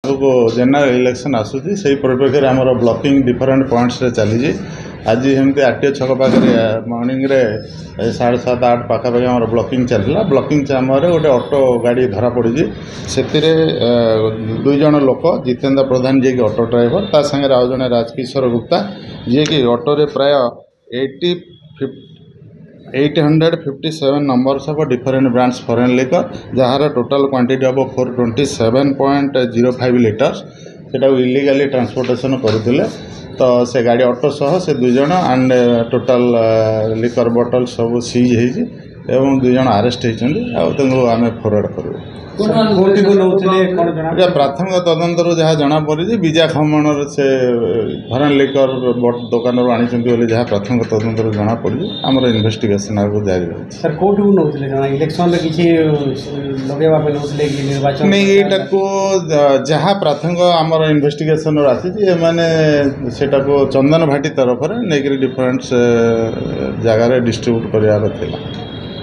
ଆଗକୁ general election ଆସୁଛି, ସେଇ ପରିପ୍ରେକ୍ଷୀରେ ଆମର ବ୍ଲକିଂ ଡିଫରେଣ୍ଟ ପଏଣ୍ଟସରେ ଚାଲିଛି। ଆଜି ସେମିତି ଆର୍ ଟି ଓ ଛକ ପାଖରେ ମର୍ଣ୍ଣିଂରେ 7:30 8 ପାଖାପାଖି ଆମର ବ୍ଲକିଂ ଚାଲିଥିଲା। ବ୍ଲକିଂ ସମୟରେ ଗୋଟେ ଅଟୋ ଗାଡ଼ି ଧରା ପଡ଼ିଛି। ସେଥିରେ 2 ଜଣ ଲୋକ, ଜିତେନ୍ଦ୍ର ପ୍ରଧାନ ଯିଏକି ଅଟୋ ଡ୍ରାଇଭର, ତା ସାଙ୍ଗରେ ଆଉ ଜଣେ ରାଜକିଶୋର ଗୁପ୍ତା, ଯିଏକି ଅଟୋରେ ପ୍ରାୟ 857 numbers of different brands foreign liquor, ଯାହାର ଟୋଟାଲ୍ କ୍ୱାଣ୍ଟିଟି ହେବ 427.05 ଲିଟର୍ସ, ସେଟାକୁ ଇଲିଗାଲି ଟ୍ରାନ୍ସପୋର୍ଟେସନ୍ କରୁଥିଲେ। ତ ସେ ଗାଡ଼ି ଅଟୋ ସହ ସେ 2 ଜଣ ଆଣ୍ଡ ଟୋଟାଲ୍ ଲିକର ବଟଲ୍ ସବୁ ସିଜ୍ ହେଇଛି ଏବଂ 2 ଜଣ ଆରେଷ୍ଟ ହେଇଛନ୍ତି ଆଉ ତାଙ୍କୁ ଆମେ ଫରୱାର୍ଡ଼ କରିବୁ। କୋଉଠିକୁ ନଉଥିଲେ, କ'ଣ ଜଣା? ଏଇଟା ପ୍ରାଥମିକ ତଦନ୍ତରୁ ଯାହା ଜଣାପଡ଼ିଛି, ବିଜା ଖମଣର ସେ ଫରେନ୍ ଲିକର ଦୋକାନରୁ ଆଣିଛନ୍ତି ବୋଲି ଯାହା ପ୍ରାଥମିକ ତଦନ୍ତରୁ ଜଣାପଡ଼ିଛି। ଆମର ଇନଭେଷ୍ଟିଗେସନ୍ ଆଗକୁ ଜାରି ରହିଛି। ସାର୍, କୋଉଠିକୁ ନଉଥିଲେ ଜଣା? ଇଲେକ୍ସନରେ କିଛି ଲଗେଇବା ପାଇଁ ନଉଥିଲେ କି ନିର୍ବାଚନ? ନାଇଁ, ଏଇଟାକୁ ଯାହା ପ୍ରାଥମିକ ଆମର ଇନଭେଷ୍ଟିଗେସନରୁ ଆସିଛି, ଏମାନେ ସେଟାକୁ ଚନ୍ଦନ ଭାଟି ତରଫରେ ନେଇକରି ଡିଫରେଣ୍ଟ ଜାଗାରେ ଡିଷ୍ଟ୍ରିବ୍ୟୁଟ୍ କରିବାର ଥିଲା।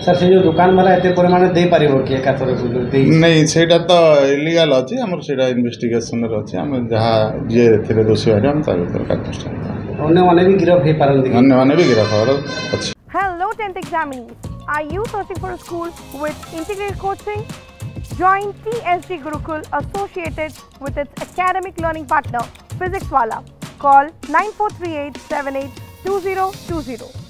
ସାର୍, ସେ ଯୋଉ ଦୋକାନ ବାଲା ଏତେ ପରିମାଣରେ ଦେଇପାରିବ କି ଏକାଥରକୁ ଯୋଉ ଦେଇ? ନାଇଁ, ସେଇଟା ତ ଇଲିଗାଲ ଅଛି। ଆମର ସେଇଟା ଇନଭେଷ୍ଟିଗେସନରେ ଅଛି। ଆମେ ଯାହା ଯିଏ ଏଥିରେ ଦୋଷୀ ବାହାରିବ, ଆମେ ତା ଭିତରେ କାର୍ଯ୍ୟାନୁଷ୍ଠାନ ନେବା। ଅନ୍ୟମାନେ ବି ଗିରଫ ହେଇପାରନ୍ତି କି? ଅନ୍ୟମାନେ ବି ଗିରଫ ହେବାର ଅଛି। Hello 10th examinees. Are you searching for a school with integrated coaching? Join TSG Gurukul, associated with its academic learning partner Physics Wala. Call 9438 782020.